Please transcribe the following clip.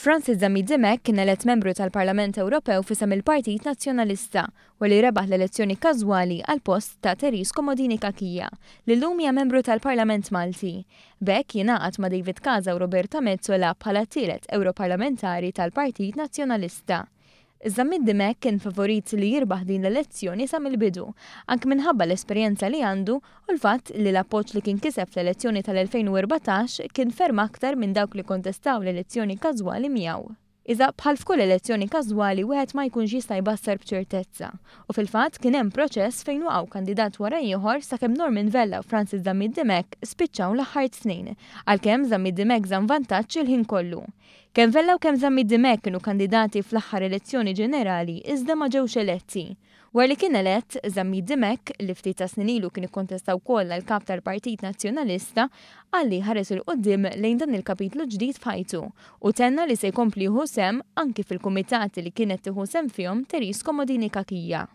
Francis Zammit Dimech kien elett membru tal-Parlament Ewropew f'isem il-Partit Nazzjonalista wara li rebaħ l-elezzjoni każwali għall-post ta' Therese Comodini Cachia, li llum hija membru tal-Parlament Malti. B'hekk jingħaqad ma' David Casa u Roberta Metsola bħala t-tielet Ewroparlamentari tal-Partit Nazzjonalista. Zammit Dimech kien favorit li jirbaħ din l-elezzjoni sa mill-bidu, anke minħabba l-esperjenza li għandu u l-fatt li l-appoġġ li kien kiseb fl-elezzjoni tal-2014 kien ferm aktar minn dawk li kontestaw l-elezzjoni każwali miegħu. Iżda bħal f'kull elezzjoni każwali wieħed ma jkunx jista' jbassar b'ċertezza u fil-fatt kien hemm proċess fejn waqgħu kandidat wara ieħor sakemm Norman Vella u Francis Zammit Dimech spiċċaw l-aħħar tnejn, għalkemm Zammit Dimech żamm vantaġġ il-ħin kollu. Kemm Vella u kemm Zammit Dimech kienu kandidati fl-aħħar elezzjoni ġenerali iżda ma ġewx eletti. Wara li kien elett, Zammit Dimech, li ftit ta' snin ilu kien ikkontesta wkoll għal Kap tal-Partit Nazzjonalista, qal li jħares 'il quddiem lejn dan il-kapitlu ġdid f'ħajtu u tenna li se jkompli jieħu sehem anki fil-kumitati li kienet tieħu sehem fihom Therese Comodini Cachia.